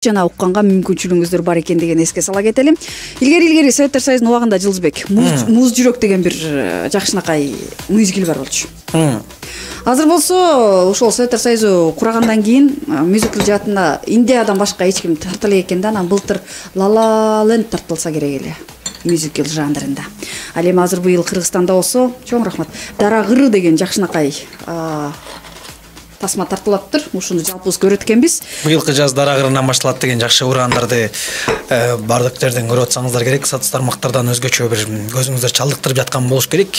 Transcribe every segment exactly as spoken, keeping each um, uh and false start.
жана укканга мүмкүнчүлүгүңүздөр бар экендигин эске сала кетели. Илгери илгери Советтер Союзунун убагында Жылдызбек Муз жүрөк деген бир жакшынакай мюзикл бар болчу. Азыр болсо ошол Советтер Союзу курагандан кийин мюзикл жаатына Индиядан башка эч ким тарта элек экен да, анан былтыр La La Land тартылса керек эле мюзикл жанрында. Ал эми азыр быйыл Кыргызстанда болсо, чоң рахмат, Дара кыры деген жакшынакай тасма тартылаптыр. Ушуну жалпыбыз көрөт экенбиз. Быйылкы жаз Дара кырынан башталат деген жакшы ураандарды бардык жерден көрүп атсаңыздар керек. Сатыс тармактардан өзгөчө бир көзүңүздөр чалдыктырып жаткан болуш керек.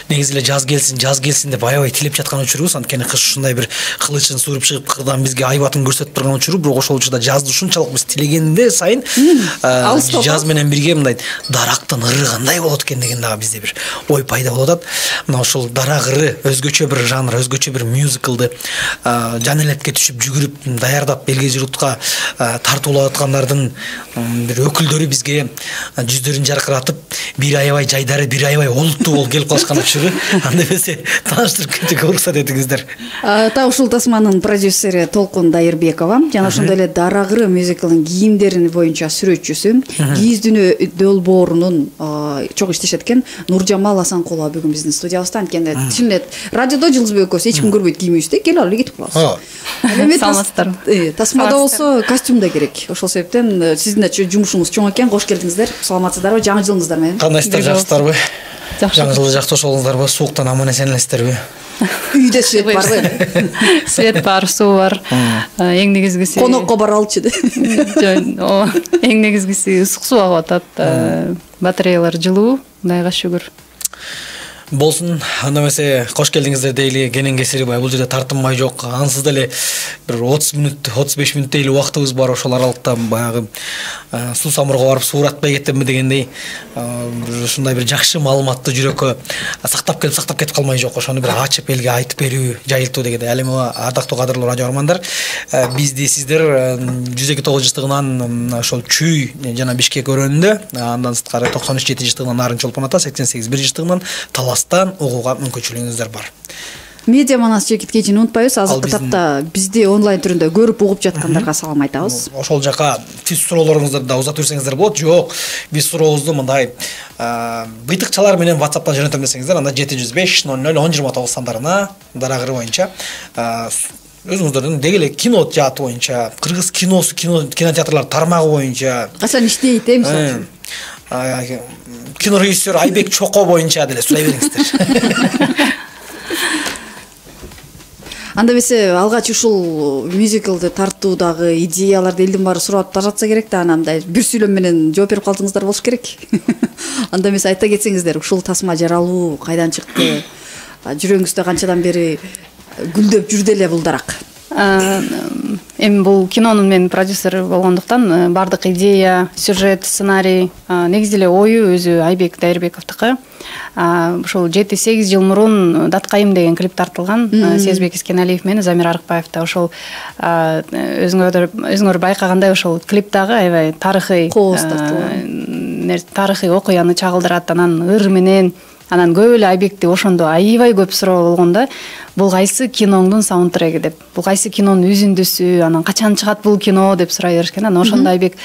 Негизи эле жаз келсин, жаз келсин деп аябай тилеп жаткан учурубуз. Анткени кыш ушундай бир кылычын сууруп чыгып кырдан бизге айбатын көрсөтүп турган учуру, бирок ошол учурда жазды ушунчалык биз тилегенде сайын жаз менен бирге мындай дарактын ыры кандай болот экен деген дагы бизде бир ой пайда болуп атат. Мына ошол Дара кыры өзгөчө бир жанр, өзгөчө бир мюзиклды жан элетке түшүп жүгүрүп даярдап элге журтка тартуулап аткандардын бир өкүлдөрү бизге жүздөрүн жаркыратып, бир аябай жайдары, бир аябай олуттуу болуп келип калышкан учуру. Анда эмесе тааныштырып кетүүгө уруксат этиңиздер. Та ушул тасманын продюсери Толкун Дайырбекова жана ошондой эле Дара кыры мюзиклынын кийимдерин боюнча сүрөтчүсү, Кийиздүнө долбоорунун чок иштешет экен Нуржамал Асанкулова бүгүн биздин студиябызда. Анткени чын эле радиодо Жылдызбек экөөбүз эч ким көрбөйт кийимибизди, келип алып кетип калабыз. Саламатсыздар. Тасмада болсо костюм да керек. Ошол себептен сиздин жумушуңуз чоң экен. Кош келдиңиздер. Саламатсыздарбы? Жаңы жылыңыздар менен. Кандайсыздар, жакшысыздарбы? Жаңы жылды жакшы ошолуңуздарбы? Сууктан аман эсен элесиздерби? Үйдө свет барбы? Свет бар, суу бар. Эң негизгиси конокко бара алчу де. Жок, эң негизгиси ысык суу агып атат. Батареялар жылуу, Кудайга шүгүр. Болсун, анда эмесе кош келдиңиздер дейли. Кенен кесири бул жерде тартынмай жок. Ансыз деле бир отуз мүнөт, отуз беш мүнөт дейли убактыбыз бар. Ошол аралыкта баягы суу самурга барып сууратпай кеттимби дегендей ушундай бир жакшы маалыматты жүрөккө сактап келип сактап кетип калмай жок. Ошону бир ачып элге айтып берүү, жайылтуу дегендей. Ал эми ардактуу кадырлуу радио армандар, бизди сиздер жүз эки тогуз жыштыгынан ошол Чүй жана Бишкек өрөөнүндө, андан сырткары токсон үч жети жыштыгынан Нарын Чолпон ата, сексен сегиз бир жыштыгынан Таластан угууга мүмкүнчүлүгүңүздөр бар. Медиа манас чекиткечин унутпайбыз. Азыркы тапта бизди онлайн түрүндө көрүп угуп жаткандарга салам айтабыз. Ошол жака тиз суроолоруңуздарды да узатып берсеңиздер болот. Жок, биз сурообузду мындай быйтыкчалар менен WhatsApp-тан жөнөтөм десеңиздер, анда жети жүз беш ноль ноль он жыйырма тогуз сандарына Дара кыры боюнча өзүңүздөрдүн деги эле кино жааты боюнча, кыргыз киносу, кинотеатрлар тармагы боюнча качан иштейт, э, мисалы үчүн кинорежиссер Айбек Чоко боюнча деле сурай бериңиздер. Анда эмесе алгач ушул мюзиклды тартуудагы идеяларды элдин баары сурап жатса керек да, анан мындай бир сүйлөм менен жооп берип калдыңыздар болуш керек. Анда эмесе айта кетсеңиздер, ушул тасма жаралуу кайдан чыкты? Жүрөгүңүздө канчадан бери гүлдөп жүрдү эле бул дарак? Эми бул кинонун мен продюсери болгондуктан бардык идея, сюжет, сценарий, негизи эле ою өзү Айбек Дайырбековдуку. Ушул жети сегиз жыл мурун Даткайым деген клип тартылган. Сезбек Искеналиев менен Замир Арыкбаев да ошол өзүңөр өзүңөр байкагандай ошол клиптагы аябай тарыхый тарыхый окуяны чагылдырат. Анан ыр менен анан көп эле Айбекти ошондо аябай көп суроо болгондо, бул кайсы киноңдун саундтреги деп, бул кайсы кинонун үзүндүсү, анан качан чыгат бул кино деп сурай беришкен. Анан ошондо Айбек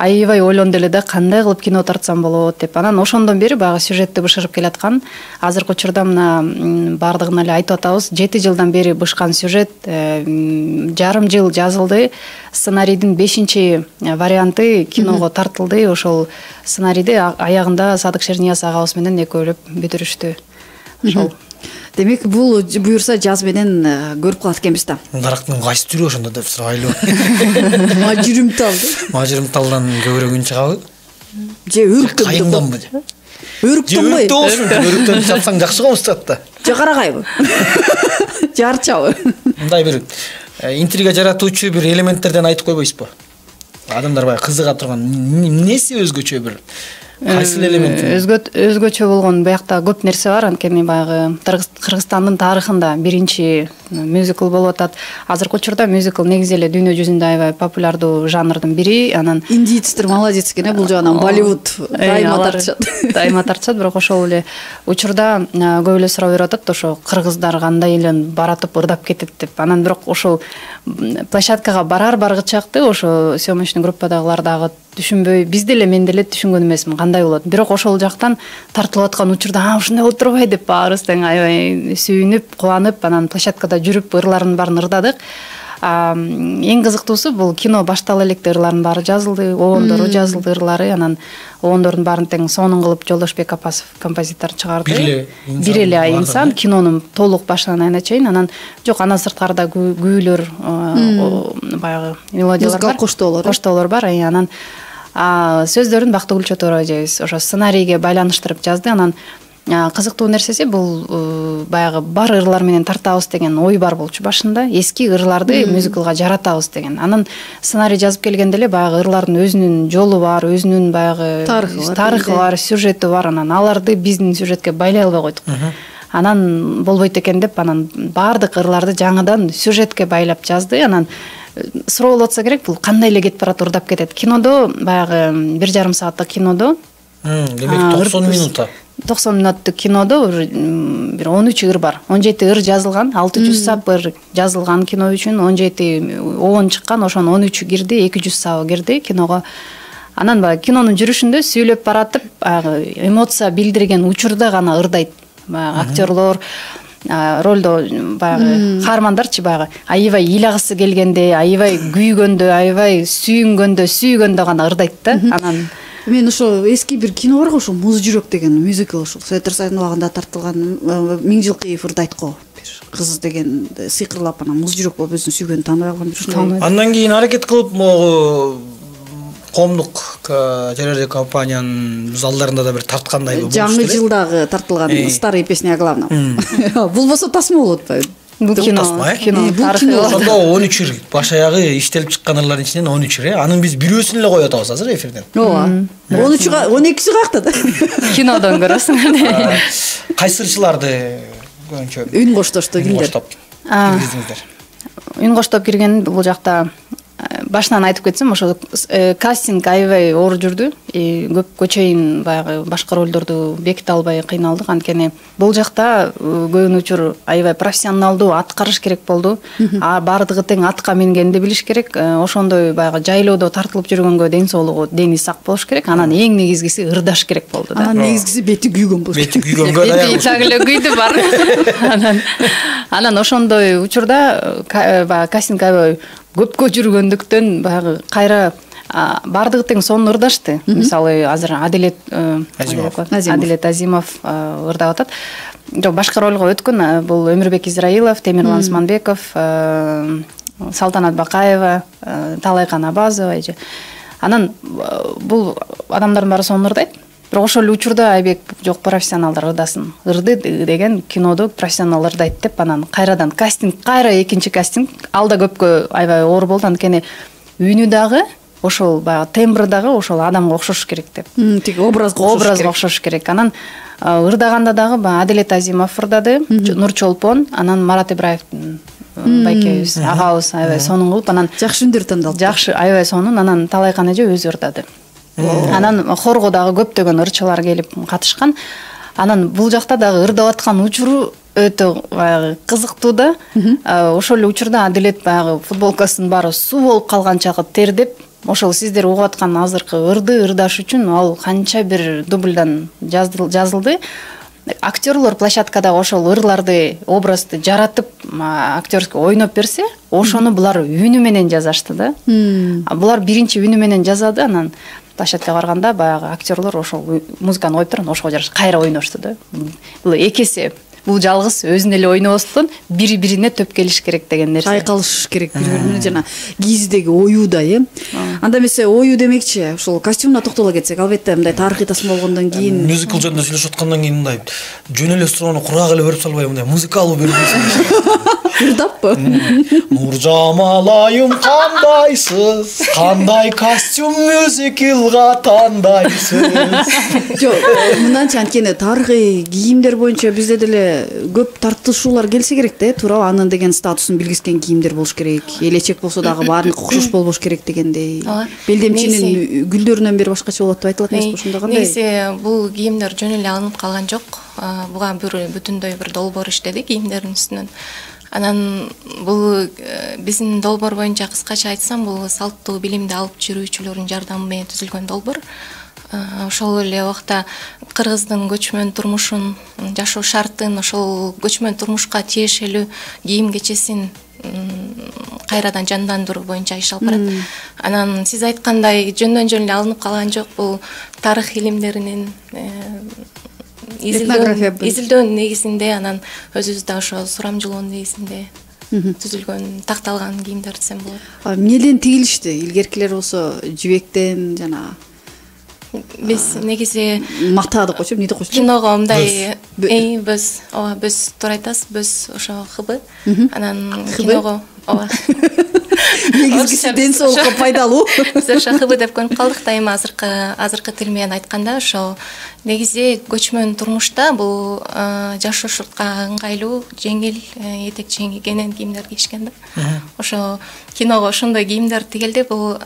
аябай ойлонду эле да, кандай кылып кино тартсам болот деп. Анан ошондон бери баягы сюжетти бышырып келаткан. Азыркы учурда мына бардыгын эле айтып атабыз, жети жылдан бери бышкан сюжет, жарым жыл жазылды. Сценарийдин бешинчи варианты киного тартылды. Ошол сценарийди аягында Садык Шернияз агабыз менен экөөлөп бүтүрүштү. Ошол. Демек, бул буюрса жаз менен көрүп калат экенбиз да. Дарактын кайсы түрү ошондо деп сурайлуу. Мажырымтал. Мажырымталдан көбүрөөк үн чыгабы? Же өрүктөн? Кайымданбы? Өрүктөн бой. Өрүктөн чапсаң жакшы болуп чыгат да. Же карагайбы? Же арчабы? Мындай бир интрига жаратуучу бир элементтерден айтып койбойсузбу? Адамдар баягы кызыга турган эмнеси өзгөчө бир кайсыл элемент өзгө өзгөчө болгон биякта көп нерсе бар. Анткени баягы Кыргызстандын тарыхында биринчи мюзикл болуп атат. Азыркы учурда мюзикл негизи эле дүйнө жүзүндө аябай популярдуу жанрдын бири. Анан индийцтер молодец экен, бул жагынан Болливуд дайыма тартышат. Дайыма тартышат, бирок ошол эле учурда көп эле суроо берип атат, ошо кыргыздар кандай эле баратып ырдап кетет деп. Анан бирок ошол площадкага барар баргычакты ошо съемочный группадагылар дагы түшүнбөй, биз деле мен деле түшүнгөн эмесмин кандай болот. Бирок ошол жактан тартылып аткан учурда а ушундай болуп турбайбы деп баарыбыз тең аябай сүйүнүп, кубанып, анан площадкада жүрүп ырлардын баарын ырдадык. Эң кызыктуусу бул кино баштала электе ырлардын баары жазылды, обондору жазылды ырлары, анан обондордун баарын тең сонун кылып Жолдошбек Апасов композитор чыгарды. Бир эле инсан кинонун толук башынан аягына чейин. Анан жок, андан сырткарда күүлөр, баягы мелодиялар бар, коштоолор коштоолор бар. Анан сөздөрүн Бактыгүл Чотороова эжебиз ошо сценарийге байланыштырып жазды. Анан кызыктуу нерсеси бул баягы бар ырлар менен тартабыз деген ой бар болчу башында. Эски ырларды мюзиклга жаратабыз деген. Анан сценарий жазып келгенде эле баягы ырлардын өзүнүн жолу бар, өзүнүн баягы тарыхы бар, сюжети бар. Анан аларды биздин сюжетке байлай албай койдук. Анан болбойт экен деп, анан баардык ырларды жаңыдан сюжетке байлап жазды. Анан суроо болуп атса керек, бул кандай эле кетип барат, ырдап кетет. Кинодо баягы бир жарым сааттык кинодо, демек токсон минутта токсон мүнөттүк кинодо бир он үч ыр бар. он жети ыр жазылган, алты жүз сап ыр жазылган кино үчүн, он жети обон чыккан, ошонун он үчү кирди, эки жүз сабы кирди киного. Анан баягы кинонун жүрүшүндө сүйлөп баратып, баягы эмоция билдирген учурда гана ырдайт. Баягы актерлор ролдо баягы каармандарчы баягы аябай ыйлагысы келгенде, аябай күйгөндө, аябай сүйүнгөндө, сүйгөндө гана ырдайт да. Анан мен ошо эски бир кино бар го, ошо Муз жүрөк деген мюзикл, ошол Совет Союзунун убагында тартылган, Миңжилкыев ырдайт го. Бир кыз деген сыйкырлап анан Муз жүрөк болуп өзүнүн сүйгөнүн тааныбай калган бир. Андан кийин аракет кылып могу коомдук телерадиокомпаниянын залдарында да бир тарткандай болуп. Жаңы жылдагы тартылган старые песни о главном. Бул болсо тасма болуп атпайбы? Бул кино, кино тарыхы. Ошондо он үч ыр баш аягы иштелип чыккан ырлардын ичинен он үч ыр. Анын биз бирөөсүн эле коюп атабыз азыр эфирден. Ооба. он үчү он экиси каякта да? Кинодон көрөсүң. Кайсы ырчыларды көбүнчө үн коштошту кимдер? Киргиздиңиздер. Үн коштоп кирген бул жакта башынан айтып кетсем, ошо кастинг аябай оор жүрдү. Көпкө чейин баягы башка ролдорду беките албай кыйналдык. Анткени бул жакта көбүн учур аябай профессионалдуу аткарыш керек болду. А бардыгы тең атка мингенди билиш керек. Ошондой баягы жайлоодо тартылып жүргөнгө ден соолугу, дени сак болуш керек. Анан эң негизгиси ырдаш керек болду да. Анан негизгиси бети күйгөн болуш керек. Бети күйгөнгө даяр. Бети так эле күйдү бар. Анан анан ошондой учурда баягы кастинг аябай көпкө жүргөндүктөн баягы кайра бардыгы тең сонун ырдашты. Мисалы азыр Адилет Адилет Азимов ырдап атат. Жок, башка ролго өткөн бул Өмүрбек Израилов, Темирлан Усманбеков, Салтанат Бакаева, Талайкан Абазова. Анан бул адамдардын баары сонун ырдайт. Бирок ошол эле учурда Айбек жок, профессионалдар ырдасын. Ырды деген кинодо профессионал ырдайт деп, анан кайрадан кастинг, кайра экинчи кастинг. Алда көпкө аябай оор болду, анткени үнү дагы ошол баягы тембры дагы ошол адамга окшош керек деп. Тик образга образга окшош керек. Анан ырдаганда дагы баягы Адилет Азимов ырдады, Нур Чолпон, анан Марат Ибраевдин байкебиз, агабыз аябай сонун кылып, анан жакшы үндөр тандалды. Жакшы, аябай сонун. Анан Талайкан эже өзү ырдады. Анан хорго дагы көптөгөн ырчылар келип катышкан. Анан бул жакта дагы ырдап аткан учуру өтө баягы кызыктуу да. Ошол эле учурда Адилет баягы футболкасынын баары суу болуп калганчагы тердеп, ошол сиздер угуп аткан азыркы ырды ырдаш үчүн ал канча бир дубльдан жазылды. Актерлор площадкада ошол ырларды, образды жаратып, актерский ойноп берсе, ошону булар үнү менен жазашты да. Булар биринчи үнү менен жазады, анан площадкага барганда баягы актерлор ошол музыканы коюп туруп, ошого жараша кайра ойношту да. Бул эки эсе. Бул жалгыз өзүн эле ойнобостон бири-бирине төп келиш керек деген нерсе. Айкалыш керек бири-бирине, жана кийиздеги оюуда, э. Анда эмесе ою демекчи, ошол костюмуна токтоло кетсек, албетте мындай тарыхый тасма болгондон кийин, мюзикл жөнүндө сүйлөшүп аткандан кийин мындай жөн эле суроону курак эле берип салбай, мындай музыкалуу берип ырдаппы? Нуржамал айым кандайсыз, кандай костюм мюзиклга тандайсыз. Жок, мындайча анткени тарыхый кийимдер боюнча бизде деле көп тартышуулар келсе керек да, туурабы? Анын деген статусун билгизген кийимдер болуш керек. Элечек болсо дагы баарына окшош болбош керек дегендей. Белдемчинин гүлдөрүнөн бери башкача болот деп айтылат эмеспи? Ошондо кандай? Негизи бул кийимдер жөн эле алынып калган жок. Буга бир бүтүндөй бир долбоор иштеди кийимдердин үстүнөн. Анан бул биздин долбоор боюнча кыскача айтсам, бул салттуу билимди алып жүрүүчүлөрдүн жардамы менен түзүлгөн долбоор. Ошол эле убакта кыргыздын көчмөн турмушун, жашоо шартын, ошол көчмөн турмушка тиешелүү кийим кечесин кайрадан жандандыруу боюнча иш алып барат. Анан сиз айткандай жөндөн жөн эле алынып калган жок, бул тарых илимдеринин изилдөөнүн негизинде, анан өзүбүз да ошо сурамжылоонун негизинде түзүлгөн, такталган кийимдер десем болот. Эмнеден тигилишти? Илгеркилер болсо жибектен, жана биз негизи мата деп койчу, эмне деп койчу? Киного мындай бөз, ооба, бөз туура айтасыз, бөз ошо хыбы. Анан киного, ооба. Негизгиси ден соолукка пайдалуу. Биз ошо хыбы деп көрүп калдык да, эми азыркы азыркы тил менен айтканда ошо негизи көчмөн турмушта бул жашоошуртка ыңгайлуу, жеңил, этек жеңген кийимдер кийишкен да. Ошо киного ошондой кийимдер тигилди, бул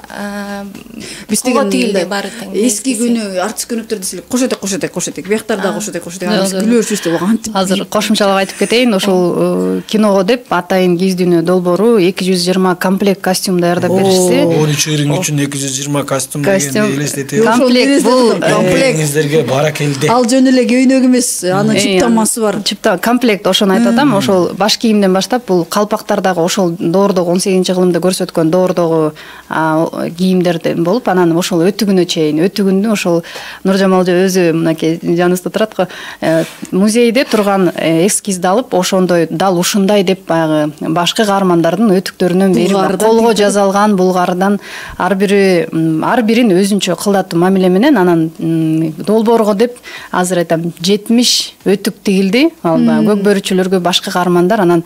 биз тигилди баары тең. Эски күнү артист көйнөктөр десек, кош этек, кош этек, кош этек, бияктар да кош этек, кош этек, күлөөрчүбүз деп кантип. Азыр кошумчалап айтып кетейин, ошол киного деп атайын кийиздүүнү долбоору эки жүз жыйырма комплект костюм даярдап беришти. он үч ырың үчүн эки жүз жыйырма костюм дегенди элестетип. Комплект бул комплектиңиздерге баракелде. Ал жөн эле көйнөк эмес, анын чыптамасы бар. Чыпта комплект, ошону айтып атам. Ошол баш кийимден баштап бул калпактар дагы ошол доордогу он сегизинчи кылымда көрсөткөн доордогу кийимдерден болуп, анан ошол өтүгүнө чейин, өтүгүндү ошол Нуржамал өзү мынакей жаныбызда турат го, музейде турган эскизди алып, ошондой дал ушундай деп баягы башкы каармандардын өтүктөрүнөн бери колго жазалган булгардан ар бири ар бирин өзүнчө кылдаттуу мамиле менен анан долбоорго деп азыр айтам жетимиш өтүк тигилди. Ал көк бөрүчүлөргө башкы каармандар, анан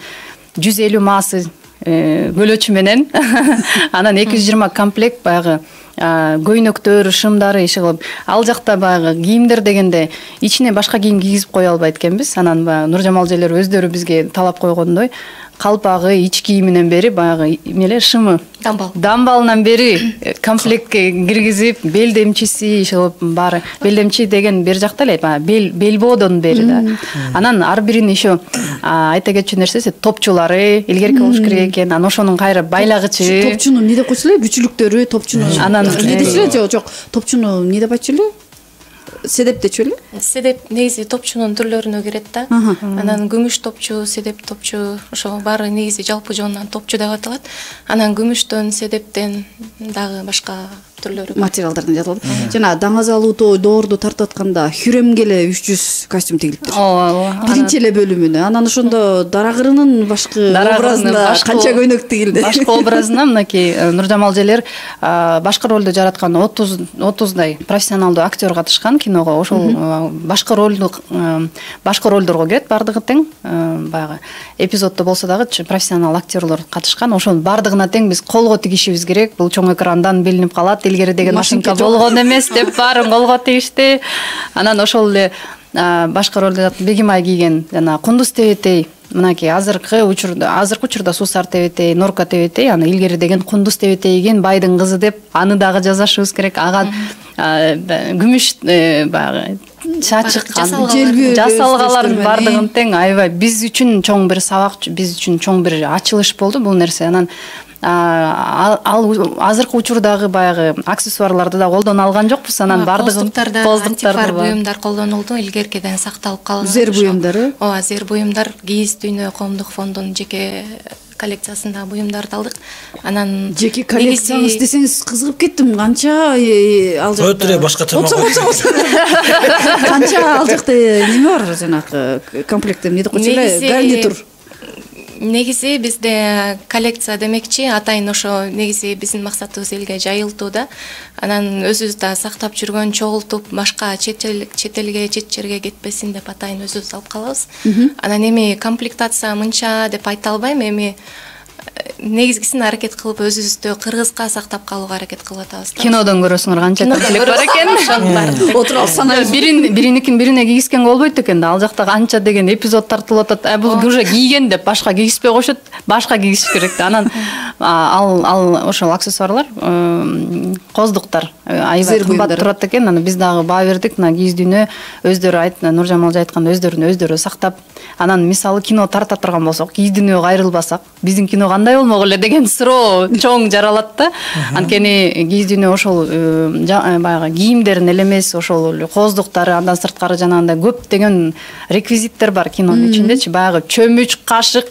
жүз элүү маасы көлөчү менен анан эки жүз жыйырма комплект баягы көйнөктөр, шымдары иши кылып, ал жакта баягы кийимдер дегенде ичине башка кийим кийгизип кое албайт экенбиз. Анан баягы Нуржамал эжелер өздөрү бизге талап койгондой калпагы, ич кийиминен бери баягы эмеле шымы, дамбал, дамбалынан бери комплектке киргизип, белдемчиси иши кылып баары. Белдемчи деген бер жакта эле баягы бел белбоодон бери да. Анан ар бирин еще айта кетчү нерсеси топчулары илгерки болуш керек экен. Анан ошонун кайра байлагычы. Топчуну эмне деп койчу эле? Бүчүлүктөрү, топчуну. Анан эмне дечү эле? Жок, жок. Топчуну эмне деп айтчу эле? Седеп дечү эле? Седеп негизи топчунун түрлөрүнө кирет да. Анан күмүш топчу, седеп топчу, ошо баары негизи жалпы жонунан топчу деп аталат. Анан күмүштөн, седептен дагы башка түрлөрү материалдардан жасалат. Жана даңазалуу доорду тартып атканда Хүрөмгө эле үч жүз костюм тигилиптир. Ооба. Биринчи эле бөлүмүнө. Анан ошондо Дарагырынын башкы образында канча көйнөк тигилди? Башкы образына мынакей Нуржамал эжелер башкы ролду жараткан отуз отуздай профессионалдуу актер катышкан киного. Ошол башкы ролду башкы ролдорго кирет бардыгы тең. Баягы эпизоддо болсо дагы профессионал актерлор катышкан. Ошонун бардыгына тең биз колго тигишибиз керек. Бул чоң экрандан билинип калат. Илгери деген машинка болгон эмес деп баарын колго тийишти. Анан ошол эле башкы ролду Бегимай кийген жана Кундуз Тебетей, мынакей азыркы учурда азыркы учурда Суусар Тебетей, Норка Тебетей, аны илгери деген Кундуз Тебетей кийген байдын кызы деп аны дагы жазашыбыз керек. Ага күмүш баягы чачык жасалгалардын бардыгын тең аябай биз үчүн чоң бир сабак, биз үчүн чоң бир ачылыш болду бул нерсе. Анан ал азыркы учурдагы баягы аксессуарларды да колдоно алган жокпуз. Анан бардыгын антифар буюмдар колдонулду, илгеркиден сакталып калган. Зер буюмдары? Ооба, зер буюмдар кийиз дүйнө коомдук фондунун жеке коллекциясында буюмдарды алдык. Анан жеке коллекцияңыз десеңиз кызыгып кеттим. Канча ал жакта өтүрө башкача канча ал жакта неме бар жанагы комплектте эмне деп койчу эле? Гарнитур. негизи бизде коллекция демекчи атайын ошо негизи биздин максатыбыз элге жайылтуу да. Анан өзүбүз да сактап жүргөн чогултуп башка чет элге чет жерге кетпесин деп атайын өзүбүз алып калабыз. Анан эми комплектация мынча деп айта албайм, эми негизгисин аракет кылып өзүбүздү кыргызга сактап калууга аракет кылып атабыз. Кинодон көрөсүңөр канча комплект бар экен. Отуруп алып санайбыз. Бирин биринекин бирине кийгизгенге болбойт экен да. Ал жакта канча деген эпизод тартылып атат. А бул уже кийген деп башка кийгизбей коюшат. Башка кийгизиш керек да. Анан ал ал ошол аксессуарлар, коздуктар аябай кымбат турат экен. Анан биз дагы баа бердик. Мына кийиздүүнү өздөрү айт, Нуржамал айткандай өздөрүн өздөрү сактап. Анан мисалы кино тарта турган болсок, кийиздүүнүгө кайрылбасак, биздин кино кандай болмок эле деген суроо чоң жаралат да. Анткени кийиздүүнү ошол баягы кийимдерин эле эмес, ошол коздуктары, андан сырткары жанагындай көптөгөн реквизиттер бар кинонун ичиндечи. Баягы чөмүч, кашык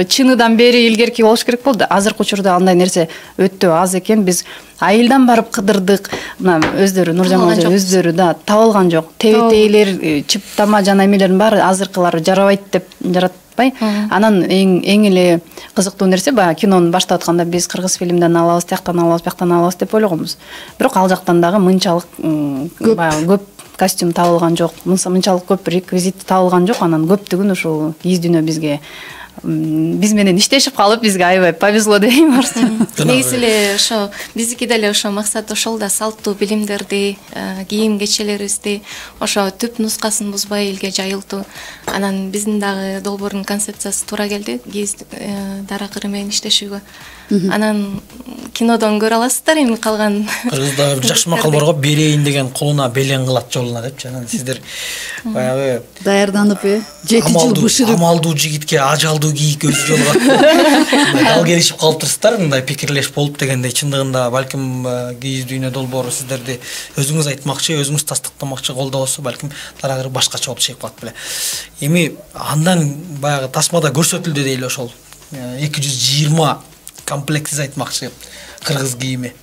чыныдан бери илгерки болуш керек болду. Азыркы учурда андай нерсе өтө аз экен. Биз айылдан барып кыдырдык. Мына өздөрү Нуржамал өздөрү да таап алган жок. Тебетейлер, чыптама жана эмелердин баары азыркылары жарабайт деп жаратпай. Анан эң эң эле кызыктуу нерсе баягы кинону баштап атканда биз кыргыз фильмден алабыз, тияктан алабыз, бияктан алабыз деп ойлогонбуз. Бирок ал жактан дагы мынчалык баягы көп костюм табылган жок. Мынчалык көп реквизит табылган жок. Анан көптүгүн ушул кийиздүүнү бизге биз менен иштешип калып, бизге аябай повезло дейм бар. Негизи эле ошо биздики деле ошо максат ошол да, салттуу билимдерди, кийим кечелерибизди ошо түп нускасын бузбай элге жайылтуу. Анан биздин дагы долбоордун концепциясы туура келди кийиз дара кыры менен иштешүүгө. Анан кинодон көрө аласыздар эми калган. Кыргызда бир жакшы макал бар го, берейин деген кулуна белең кылат жолуна депчи. Анан сиздер баягы даярданып, э, жети жыл бышырып, амалдуу жигитке ажалдуу кийик өзү жолугат. Дал келишип калыптырсыздар, мындай пикирлеш болуп дегендей. Чындыгында балким кийиздүүнү долбоору сиздерди өзүңүз айтмакчы, өзүңүз тастыктамакчы колдобосо, балким дарагы башкача болуп чыгып калат беле. Эми андан баягы тасмада көрсөтүлдү дейли ошол эки жүз жыйырма комплект сиз айтмакчы кыргыз кийими.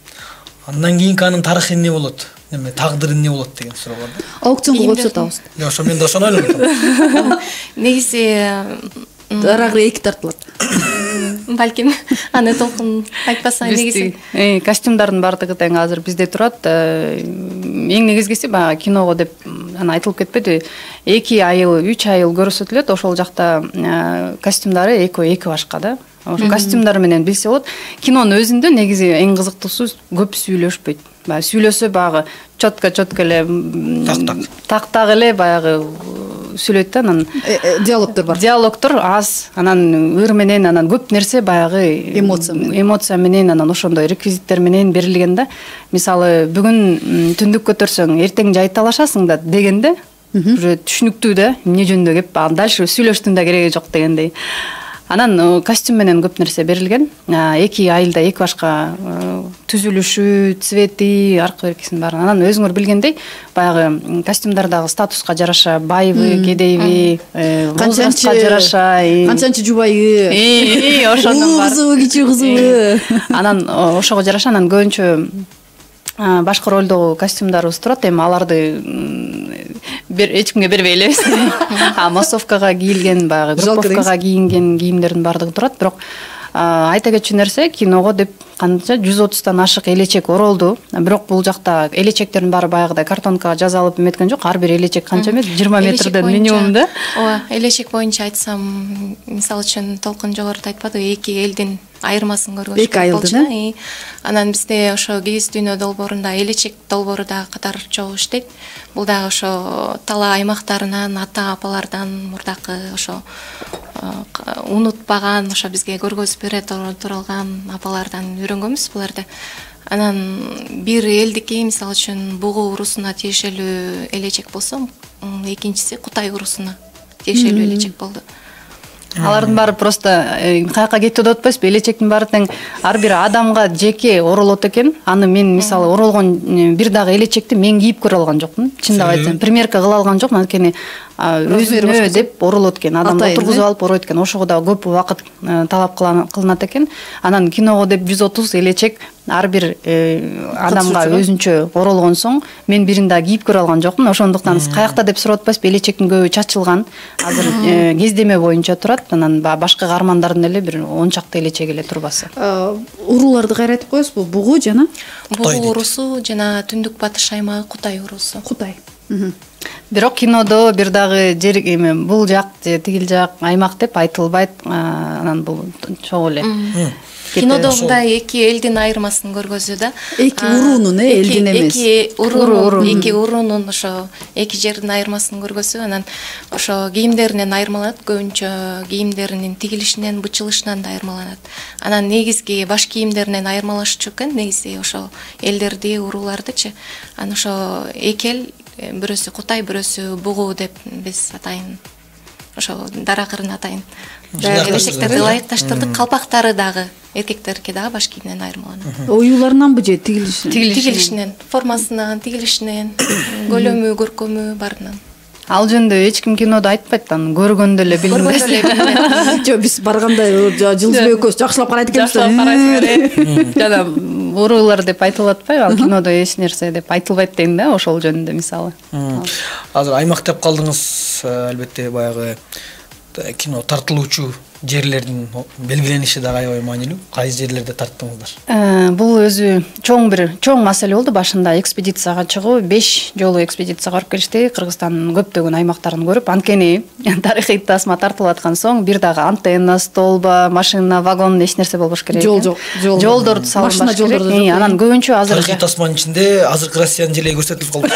Андан кийинки анын тарыхы эмне болот? Эме тагдыры эмне болот деген суроо бар да. Аукционго көрсөтөбүз. Ошо мен да ошону ойлойм. Негизи дарагы эки тартылат. Балким аны толкун айтпаса негизи. Э, костюмдардын баардыгы тең азыр бизде турат. Эң негизгиси баягы киного деп аны айтылып кетпеди. эки айыл, үч айыл көрсөтүлөт. Ошол жакта костюмдары эки башка да. Ошо костюмдар менен билсе болот. Кинонун өзүндө негизи эң кызыктуусу көп сүйлөшпөйт. Баягы сүйлөсө баягы чотко-чотко эле так-так эле баягы сүйлөйт да. Анан диалогдор бар. Диалогдор аз. Анан ыр менен анан көп нерсе баягы эмоция менен. Эмоция менен анан ошондой реквизиттер менен берилген да. Мисалы бүгүн түндүк көтөрсөң, эртең жайыт талашасың да дегенде уже түшүнүктүү да. Эмне жөнүндө кеп дальше сүйлөштүн да кереги жок дегендей. Анан костюм менен көп нерсе берилген. Эки айылда эки башка түзүлүшү, цвети, аркы беркисин бар. Анан өзүңөр билгендей, баягы костюмдардагы статуска жараша байбы, кедейби, канчанчы жараша, канчанчы жубайы, и ошондон бар. Кызыбы, кичүү кызыбы. Анан ошого жараша анан көбүнчө башка ролдогу костюмдарыбыз турат. Эми аларды бир эч кимге бербей элебиз. А массовкага кийилген, баягы групповкага кийинген кийимдердин баардыгы турат. Бирок айта кетчү нерсе, киного деп канча жүз отуздан ашык элечек оролду. Бирок бул жакта элечектердин баары баягыдай картонкага жазалып эметкен жок. Ар бир элечек канча метр? жыйырма метрден минимум да. Ооба, элечек боюнча айтсам, мисалы үчүн Толкун жогоруда айтпадыбы, эки элдин айырмасын көргөзүп болчу. Анан бизде ошо кийиздүүнү долбоорунда элечек долбоору да катар чогуу иштейт. Бул дагы ошо талаа аймактарынан, ата апалардан мурдакы ошо унутпаган, ошо бизге көргөзүп бере турган апалардан үйрөнгөнбүз буларды. Анан бир элдики, мисалы үчүн Бугу урусуна тиешелүү элечек болсо, экинчиси Кутай урусуна тиешелүү элечек болду. Алардын баары просто каяка кетти деп атпайсызбы? Элечектин баары тең ар бир адамга жеке оролот экен. Аны мен мисалы оролгон бир дагы элечекти мен кийип көрө алган жокмун. Чындап айтсам, примерка кыла алган жокмун. Анткени өзүнө деп оролот экен. Адам отургузуп алып оройт экен. Ошого да көп убакыт талап кылынат экен. Анан киного деп жүз отуз элечек ар бир адамга өзүнчө оролгон соң мен бирин дагы кийип көрө алган жокмун. Ошондуктан каякта деп сурап атпайсызбы, элечектин көбү чачылган. Азыр кездеме боюнча турат. Анан башка каармандардын эле бир он чакты элечеги эле турбасы. Урууларды кайра айтып коесузбу? Бугу жана Бугу уруусу жана Түндүк Батыш аймагы Кутай уруусу. Кутай. Бирок кинодо бир дагы жер эме бул жак же тигил жак аймак деп айтылбайт. Анан бул чогуу эле. Кинодо мындай эки элдин айырмасын көргөзүү да. Эки уруунун, э, элдин эмес. Эки уруунун, эки уруунун ошо эки жердин айырмасын көргөзүү. Анан ошо кийимдеринен айырмаланат, көбүнчө кийимдеринин тигилишинен, бычылышынан да айырмаланат. Анан негизги баш кийимдеринен айырмалашчу экен, негизи ошо элдерди, уруулардычы. Анан ошо эки эл, бирөөсү Кутай, бирөөсү Бугу деп биз атайын. Ошо дара кырын атайын. Элечектерди ылайыкташтырдык. Калпактары дагы эркектердики дагы баш кийиминен айырмаланат. Оюларынанбы же тигилишинен? Тигилишинен, формасынан, тигилишинен, көлөмү, көркөмү баарынан. Ал жөнүндө эч ким кинодо айтпайт, аны көргөндө эле билинет. Жок, биз барганда Жылдызбек экөөбүз жакшылап карайт экенбиз. Жакшылап карайсыңар. Жана уруулар деп айтылып атпайбы, ал кинодо эч нерсе деп айтылбайт дейм да, ошол жөнүндө мисалы. Азыр аймак деп калдыңыз, албетте баягы кино тартылуучу жерлердин белгилениши дагы аябай маанилүү. Кайсы жерлерде тарттыңыздар? Бул өзү чоң бир чоң маселе болду. Башында экспедицияга чыгуу, беш жолу экспедицияга барып келишти. Кыргызстандын көптөгөн аймактарын көрүп, анткени тарыхый тасма тартылып аткан соң бир дагы антенна, столба, машина, вагон эч нерсе болбош керек. Жол жок. Жолдорду салынбаш керек. Анан көбүнчө азыр тарыхый тасманын ичинде азыркы Россиянын желеги көрсөтүлүп калды.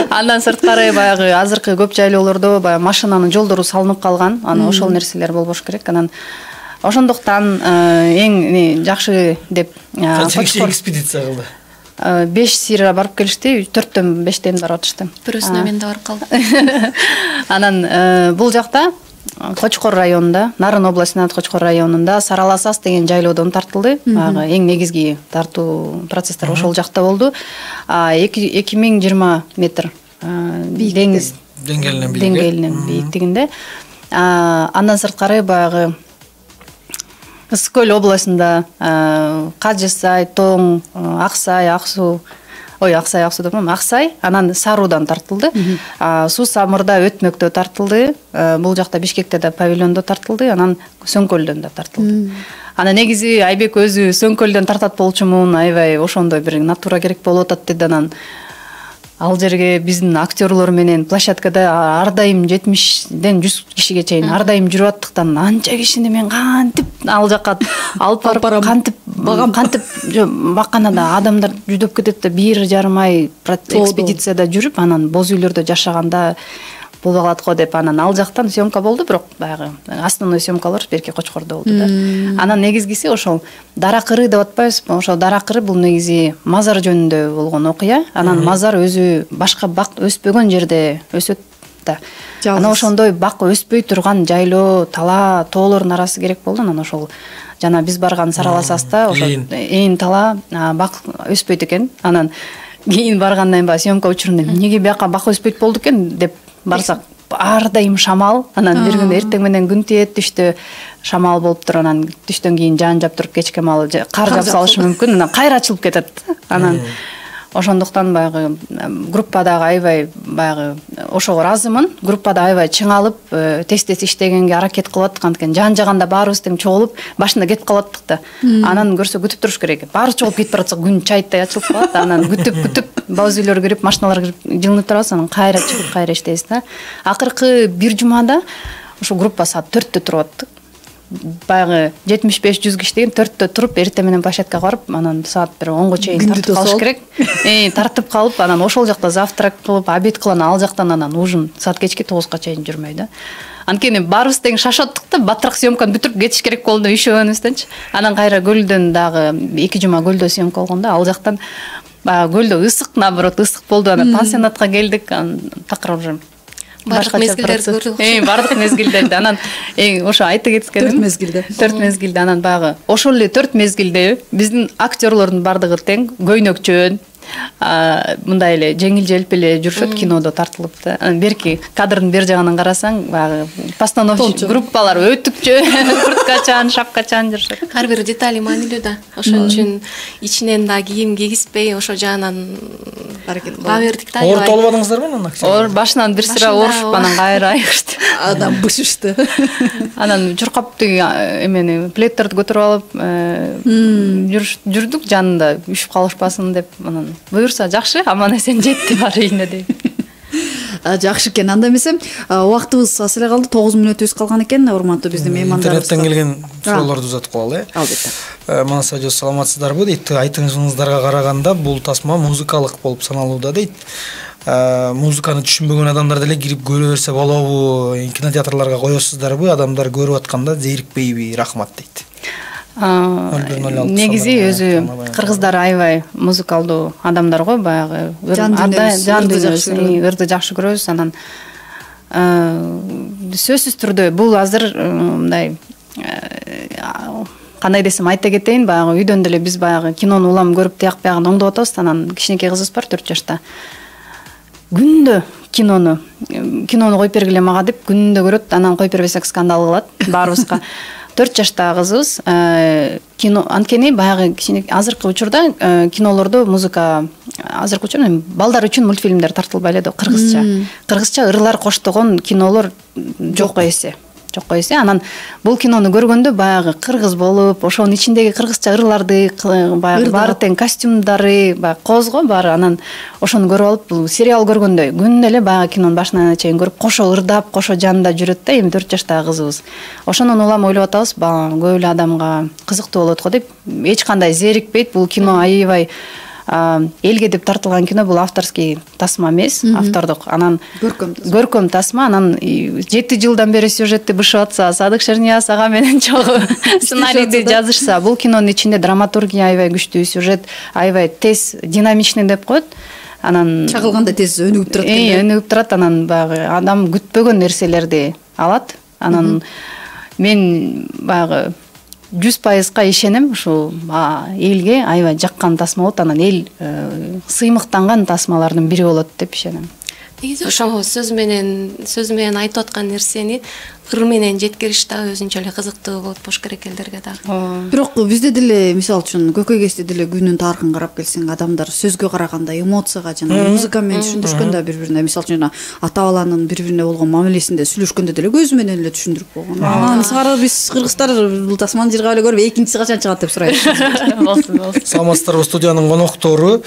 Андан сырткары баягы азыркы көп жайлоолордо баягы машинанын жолдору салынып калган. Анан ошол нерселер болбош керек. Анан ошондуктан эң жакшы деп Качан экспедиция кылды? беш сыйра барып келишти, төрттөн бештен барып атышты. Бирөөсүнө мен да барып калдым. Анан бул жакта Кочкор районунда, Нарын областынын Кочкор районунда Сараласас деген жайлоодон тартылды. Ага эң негизги тартуу процесстер ошол жакта болду. эки миң жыйырма метр деңиз деңгээлинен бийиктигинде. Андан сырткары баягы Ысык көл областында Кажысай, Тоң, Аксай, Аксуу, ой Аксай, Аксуу деп атам, Аксай, анан Саруудан тартылды. Суу Самырда Өтмөктө тартылды. Бул жакта Бишкекте да павильондо тартылды, анан Сөңкөлдөн да тартылды. Анан негизи Айбек өзү Сөңкөлдөн тартат болчумун, аябай ошондой бир натура керек болуп атат деди. Анан ал жерге биздин актерлор менен площадкада ар дайым жетимиштен жүз кишиге чейин ар дайым жүрүп аттыктан анча кишини мен кантип ал жакка алып барып кантип кантип бакканада адамдар жүдөп кетет да бир жарым ай экспедицияда жүрүп анан боз үйлөрдө жашаганда боло калат го деп анан ал жактан съемка болду, бирок баягы основной съемкалар берки Кочкордо болду да. Анан негизгиси ошол Дара кыры деп атпайбызбы? Ошол Дара кыры бул негизи мазар жөнүндө болгон окуя. Анан мазар өзү башка бак өспөгөн жерде өсөт да. Анан ошондой бак өспөй турган жайлоо, тала, тоолордун арасы керек болду. Анан ошол жана биз барган Сараласаста ошол ээн тала бак өспөйт экен. Анан кийин баргандан баягы съемка учурунда эмнеге бияка бак өспөйт болду экен деп барсак ар дайым шамал. Анан бир күн эртең менен күн тиет, түштө шамал болуп туруп, анан түштөн кийин жаан жап туруп кечке маал кар жаап салышы мүмкүн, анан кайра ачылып кетет. Анан ошондуктан баягы группадагы аябай баягы ошого ыраазымын. Группада аябай чыңалып, тез-тез иштегенге аракет кылып аттык, анткени жаан жаганда баарыбыз тең чогулуп, башында кетип калаттык да. Анан көрсө күтүп туруш керек. Баары чогулуп кетип баратса күн чайыттай ачылып калат. Анан күтүп-күтүп боз үйлөр кирип, машиналар кирип жылынып турабыз, анан кайра чыгып, кайра иштейбиз да. Акыркы бир жумада ошо группа саат төрттө туруп аттык. Баягы жетимиш беш жүз киши деген төрттө туруп, эртең менен площадкага барып, анан саат бир онго чейин тартып калыш керек. Э, тартып калып, анан ошол жакта завтрак кылып, обед кылып, ал жактан анан ужин саат кечки тогузга чейин жүрмөй да. Анткени баарыбыз тең шашаттык да, батыраак съемканы бүтүрүп кетиш керек болду ишөөнүздөнчү. Анан кайра көлдөн дагы эки жума көлдө съемка болгондо, ал жактан баягы көлдө ысык, наоборот, ысык болду. Анан пансионатка келдик, анан такыр уже башка мезгилдерди көрдүк. Э, бардык мезгилдерди. Анан эң ошо айта кеткеним төрт мезгилде. төрт мезгилде анан баягы ошол эле төрт мезгилде биздин актерлордун бардыгы тең көйнөкчөн, мындай эле жеңил желп эле жүрүшөт кинодо тартылып да. Берки кадрдын бер жагынан карасаң, баягы постановщик группалар өтүкчө, курткачан, шапкачан жүрүшөт. Ар бир детали маанилүү да. Ошон үчүн ичинен да кийим кигизбей, ошо жаанан ба бердик да. Оор толбадыңыздарбы анан актер? Оор башынан бир сыра оорушуп, анан кайра айгышты. Адам бышышты. Анан чуркап тиги эмени плеттерди көтөрүп алып жүрдүк, жанында үшүп калышпасын деп. Анан буюрса жакшы, аман эсен жетти бар үйүнө деп. Жакшы экен. Анда эмесе убактыбыз аз эле калды, тогуз мүнөтүбүз калган экен. Урматтуу биздин меймандарыбыз. Интернеттен келген суроолорду узатып коелу, э? Албетте. Манас ажо саламатсыздарбы дейт. Айтыңыздарга караганда бул тасма музыкалык болуп саналууда дейт. Музыканы түшүнбөгөн адамдар деле кирип көрө берсе болобу? Кинотеатрларга коесуздарбы? Адамдар көрүп атканда зерикпейби? Рахмат дейт. Негизи өзү кыргыздар аябай музыкалдуу адамдар го, баягы жан дүйнөсү, ырды жакшы көрөбүз. Анан сөзсүз түрдө бул азыр мындай кандай десем айта кетейин, баягы үйдөн деле биз баягы кинону улам көрүп тияк биягын оңдоп атабыз. Анан кичинекей кызыбыз бар, төрт жашта. Күндө кинону кинону коюп бергиле мага деп күндө көрөт. Анан коюп бербесек скандал кылат баарыбызга. төрт жаштагы кызыбыз кино анткени баягы кичине азыркы учурда кинолордо музыка азыркы учурда балдар үчүн мультфильмдер тартылбай эле да, кыргызча. Кыргызча ырлар коштогон кинолор жок эсе. Жок эсе. Анан бул кинону көргөндө баягы кыргыз болуп, ошонун ичиндеги кыргызча ырларды, баягы баары тең костюмдары, баягы козго баары, анан ошону көрүп алып, бул сериал көргөндөй күндө эле баягы кинонун башынан чейин көрүп, кошо ырдап, кошо жанында жүрөт да, эми төрт жаштагы кызыбыз. Ошондон улам ойлоп атабыз, көп эле адамга кызыктуу болот го деп, эч кандай зерикпейт. Бул кино аябай элге деп тартылган кино, бул авторский тасма эмес, автордук. Анан көркөм тасма. Анан жети жылдан бери сюжетти бышып атса, Садык Шернияз ага менен чогуу сценарийди жазышса, бул кинонун ичинде драматургия аябай күчтүү, сюжет аябай тез, динамичный деп коет. Анан чагылганда тез өнүгүп турат экен. Э, өнүгүп турат. Анан баягы адам күтпөгөн нерселерди алат. Анан мен баягы жүз пайызга ишенем, ушул элге аябай жаккан тасма болот. Анан эл сыймыктанган тасмалардын бири болот деп ишенем. Негизи ошол сөз менен сөз менен айтып аткан нерсени ыр менен жеткириш да өзүнчө эле кызыктуу болуп болуш керек элдерге дагы. Бирок бизде деле мисалы үчүн Көкөй кезде деле күнүн тарыхын карап келсең, адамдар сөзгө караганда эмоцияга жана музыка менен түшүндүрүшкөндө бири-бирине, мисалы үчүн ата баланын бири-бирине болгон мамилесинде сүйлөшкөндө деле көзү менен эле түшүндүрүп койгон. Анан сары биз кыргыздар бул тасманы жыргап эле көрүп, экинчиси качан чыгат деп сурайбыз. Болсун, болсун. Саламатсыздарбы, студиянын коноктору.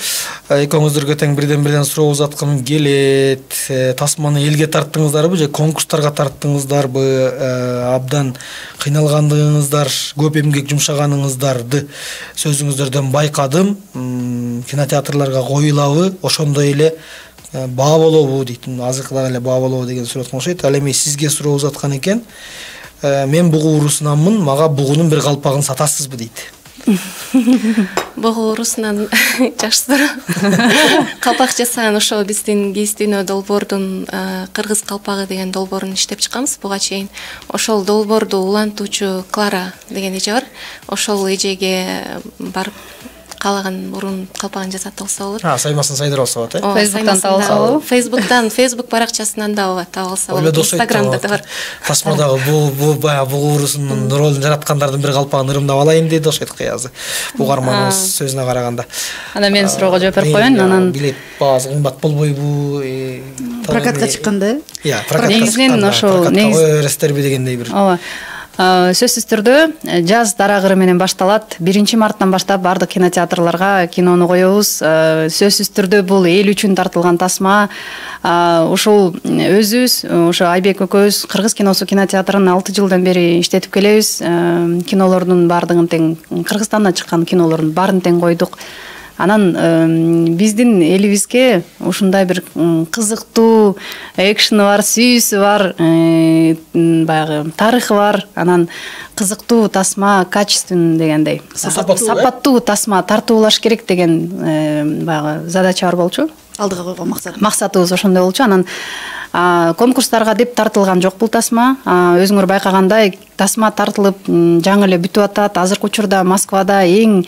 Экөөңүздөргө тең бирден-бирден суроо узаткым келет. Тасманы элге тарттыңыздарбы же конкурстарга тарттыңыздарбы? Абдан кыйналгандыгыңыздар, көп эмгек жумшаганыңыздарды сөзүңүздөрдөн байкадым. Кинотеатрларга коюлабы, ошондой эле баа болобу дейт. Азыркыда эле баа болобу деген суроо окшойт. Ал эми сизге суроо узаткан экен. Мен бугу урусунанмын, мага бугунун бир калпагын сатасызбы дейт. Бугу урусунан жакшы суроо. Калпак жасаган ошо биздин Кийиздүүнө долбоордун кыргыз калпагы деген долбоорун иштеп чыкканбыз буга чейин. Ошол долбоорду улантуучу Клара деген эже бар. Ошол эжеге барып каалаган мурун калпагын жасатып алса болот. А, саймасын сайдырып алса болот, э? Фейсбуктан таба алса болобу? Фейсбуктан, Фейсбук баракчасынан да таба алса болот. Инстаграмда да бар. Тасмадагы бул бул баягы бугу урусунун ролун жараткандардын бир калпагын ырамдап алайын деди, окшойт кыязы. Бугарманыбыз сөзүнө караганда. Анан мен суроого жооп берип коеюн. Анан билет баасы кымбат болбойбу? Прокатка чыкканда? Иә, прокатка негизинен ошол негизтерби дегендей бир. Ооба. Сөзсүз түрдө жаз дарагыры менен башталат. биринчи марттан баштап бардык кинотеатрларга кинону коебуз. Сөзсүз түрдө бул эл үчүн тартылган тасма. Ушул өзүбүз, ошо Айбек экөөбүз кыргыз киносу кинотеатрын алты жылдан бери иштетип келебиз. Кинолордун бардыгын тең, Кыргызстандан чыккан кинолордун баарын тең койдук. Анан биздин элибизге ушундай бир кызыктуу экшени бар, сүйүүсү бар, баягы тарыхы бар, анан кызыктуу тасма, качественный дегендей, сапаттуу тасма тартып алыш керек деген баягы задача бар болчу. Алдыга койгон максат. Максатыбыз ошондой болчу. Анан конкурстарга деп тартылган жок бул тасма. Өзүңөр байкагандай, тасма тартылып жаңы эле бүтүп атат. Азыркы учурда Москвада эң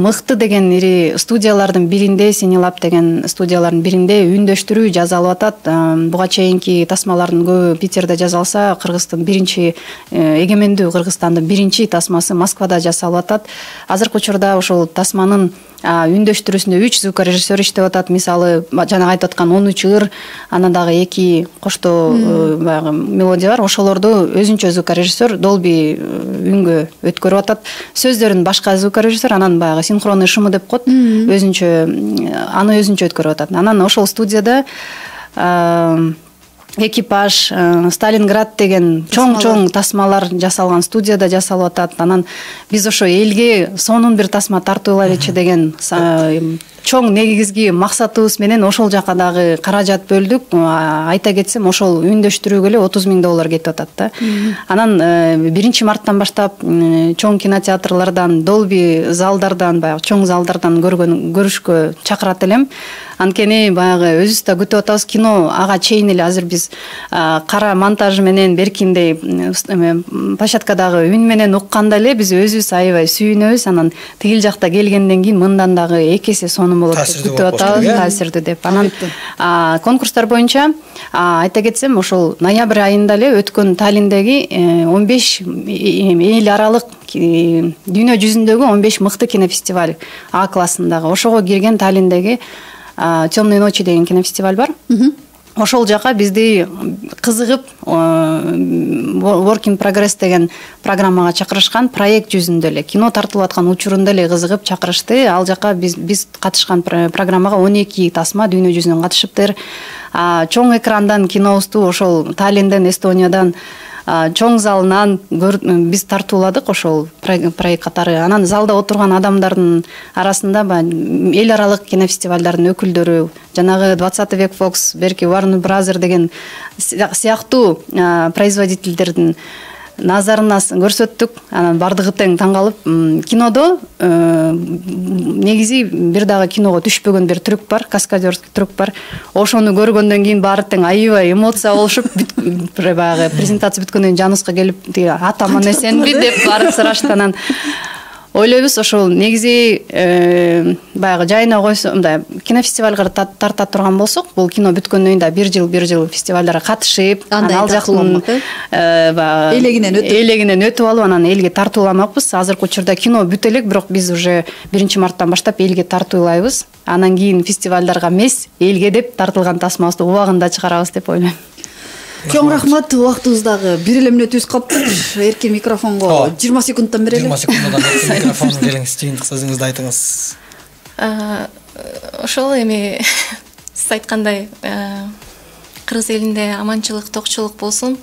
мыкты деген ири студиялардын биринде, Синилаб деген студиялардын биринде үндөштүрүү жасалып атат. Буга чейинки тасмалардын көбү Питерде жасалса, Кыргыздын биринчи эгемендүү Кыргызстандын биринчи тасмасы Москвада жасалып атат. Азыркы учурда ошол тасманын үндөштүрүүсүндө үч звукорежиссер иштеп атат. Мисалы, жана айтып аткан он үч ыр, анан дагы эки коштоо баягы мелодия бар. Ошолорду өзүнчө звукорежиссер Dolby үнгө өткөрүп атат. Сөздөрүн башка звукорежиссер, анан баягы синхронный шумы деп коет, өзүнчө аны өзүнчө өткөрүп атат. Анан ошол студияда Экипаж, Сталинград деген чоң-чоң тасмалар жасалган студияда жасалып атат. Анан биз ошо элге сонун бир тасма тартуулайлычы деген чоң негизги максатыбыз менен ошол жака дагы каражат бөлдүк. Айта кетсем, ошол үндөштүрүүгө эле отуз миң доллар кетип атат да. Анан биринчи марттан баштап чоң кинотеатрлардан, Dolby залдардан, баягы чоң залдардан көргөн көрүшкө чакырат элем. Анткени баягы өзүбүз да күтүп атабыз. Кино ага чейин эле азыр биз кара монтажы менен беркиндей площадкадагы үн менен укканда эле биз өзүбүз аябай сүйүнөбүз. Анан тигил жакта келгенден кийин мындан дагы эки эсе сонун болот деп күтүп атабыз, таасирдүү деп. Анан конкурстар боюнча айта кетсем, ошол ноябрь айында эле өткөн Таллиндеги он беш эл аралык дүйнө жүзүндөгү он беш мыкты кинофестиваль А классындагы, ошого кирген Таллиндеги Темные ночи деген кинофестиваль бар. Ошол жака бизди кызыгып Work in Progress деген программага чакырышкан. Проект жүзүндө эле кино тартылып аткан учурунда эле кызыгып чакырышты. Ал жака биз биз катышкан программага он эки тасма дүйнө жүзүнөн катышыптыр. Чоң экрандан кинобузду ошол Таллинден, Эстониядан чоң залынан биз тартууладык ошол проект катары. Анан залда отурган адамдардын арасында эл аралык кинофестивалдардын өкүлдөрү, жанагы двадцатый век Fox, берки Warner Brothers деген сыяктуу производительдердин назарына көрсөттүк. Анан бардыгы тең таң калып, кинодо негизи бир дагы киного түшпөгөн бир трюк бар, каскадерский трюк бар. Ошону көргөндөн кийин баары тең аябай эмоция болушуп, баягы презентация бүткөндөн кийин жаныбызга келип, тиги атаман эсенби деп баары сурашты. Анан ойлойбуз, ошол негизи баягы жайына койсо, мындай кинофестивалга тарта турган болсок, бул кино бүткөндөн кийин да бир жыл бир жыл фестивалдарга катышып, ал жактын баягы элегинен өтүп элегинен өтүп алып, анан элге тартууламакпыз. Азыркы учурда кино бүтө элек, бирок биз уже биринчи марттан баштап элге тартуулайбыз. Анан кийин фестивалдарга эмес, элге деп тартылган тасмабызды убагында чыгарабыз деп ойлойм. Чоң рахмат. Убактыбыз дагы бир эле мүнөтүбүз калыптыр. Эркин микрофонго жыйырма секундтан берели. жыйырма секундтан микрофон келиңиз, жыйынтык сөзүңүздү айтыңыз. Ошол эми сиз айткандай кыргыз элинде аманчылык, токчулук болсун,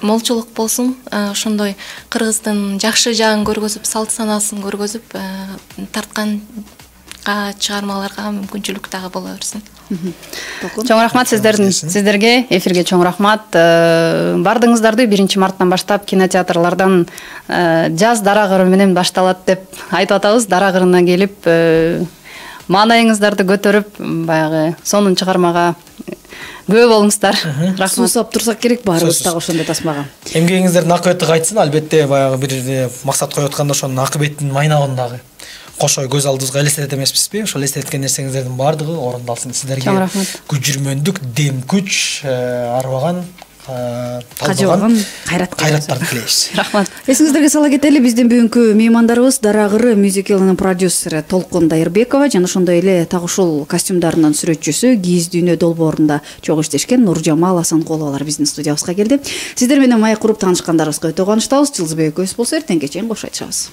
молчулук болсун. Ошондой кыргыздын жакшы жагын көргөзүп, салт санаасын көргөзүп, тарткан чыгармаларга мүмкүнчүлүк дагы боло берсин. Чоң рахмат сиздердин сиздерге, эфирге чоң рахмат. Бардыгыңыздарды биринчи марттан баштап кинотеатрлардан жаз дарагыры менен башталат деп айтып атабыз. Дарагырына келип, маанайыңыздарды көтөрүп, баягы сонун чыгармага күбө болуңуздар. Рахмат. Суусап турсак керек баарыбыз дагы ошондой тасмага. Эмгегиңиздердин акыбети кайтсын. Албетте баягы бир максат коюп атканда ошонун акыбетинин майнагын дагы кошо көз алдыбызга элестетет эмеспизби? Ошол элестеткен нерсеңиздердин баардыгы орундалсын. Сиздерге күчүрмөндүк, дем күч, арбаган, кажыбаган кайраттарды тилейбиз. Рахмат. Эсиңиздерге сала кетели, биздин бүгүнкү меймандарыбыз Дарагыры мюзиклынын продюсери Толкун Дайырбекова жана ошондой эле так ушул костюмдарынын сүрөтчүсү Кийиз дүйнө долбоорунда чогуу иштешкен Нуржамал Асанкуловалар биздин студиябызга келди. Сиздер менен маек куруп таанышкандарыбызга өтө кубанычтабыз. Жылдызбек экөөбүз болсо эртең кечен кош айтышабыз.